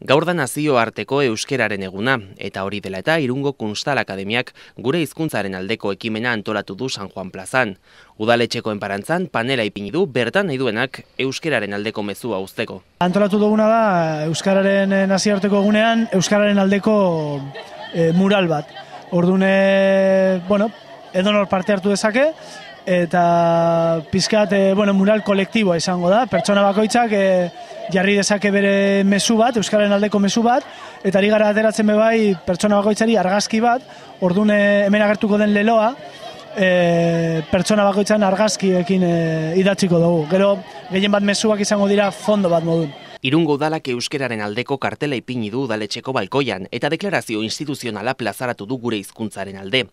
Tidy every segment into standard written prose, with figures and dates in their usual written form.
Gaur da nazioarteko euskeraren eguna, eta hori dela eta Irungo Kunstal Akademiak gure hizkuntzaren aldeko ekimena antolatu du San Juan plazan. Udaletxeko enparantzan panela ipini du bertan nahi duenak euskeraren aldeko mezua uzteko. Antolatu duguna da euskararen nazioarteko egunean euskararen aldeko mural bat. Orduan, edonor parte hartu dezake, eta pizkat mural kolektiboa izango da. Pertsona bakoitzak jarri dezake bere mezu bat, euskararen aldeko mezu bat, eta ari gara ateratzen bebai pertsona bakoitzari argazki bat. Orduan hemen agertuko den leloa, pertsona bakoitzan argazkiekin idatziko dugu. Gero gehien bat mezuak izango dira fondo bat modun. Irungo udalak euskeraren aldeko kartela ipini du udaletxeko balkoian eta deklarazio instituzionala plazaratu du gure hizkuntzaren alde.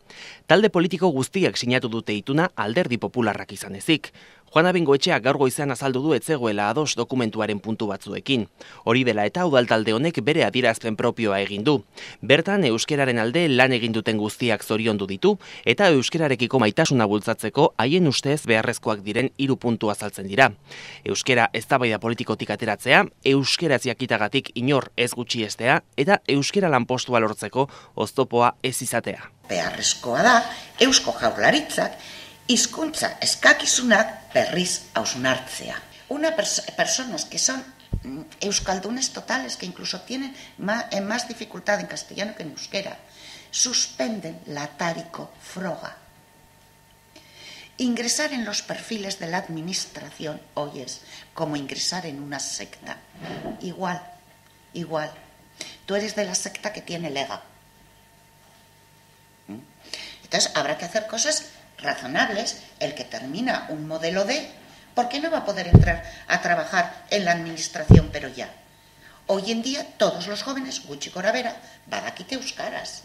Talde politiko guztiak sinatu dute ituna Alderdi Popularrak izan ezik. Juana Bengoetxeak gaur goizean azaldu du ez zegoela ados dokumentuaren puntu batzuekin. Hori dela eta udaltalde honek bere adierazpen propioa egin du. Bertan euskeraren alde lan egin duten guztiak zoriondu ditu eta euskerarekiko maitasuna bultzatzeko haien ustez beharrezkoak diren 3 puntu azaltzen dira. Euskera eztabaida politikotik ateratzea, euskaraz jakitagatik inor ez gutxiestea eta euskera lanpostua lortzeko oztopoa ez izatea. Beharrezkoa da Eusko Jaurlaritzak hizkuntza eskakizunak berriz hausnartzea. Personas que son euskaldunes totales, que incluso tienen más dificultad en castellano que en euskera, suspenden la Atariko froga. Ingresar en los perfiles de la administración hoy es como ingresar en una secta. Igual. Tú eres de la secta que tiene lega. Entonces habrá que hacer cosas razonables. El que termina un modelo D, ¿por qué no va a poder entrar a trabajar en la administración pero ya? Hoy en día todos los jóvenes, gutxi gorabehera, badakite euskaraz.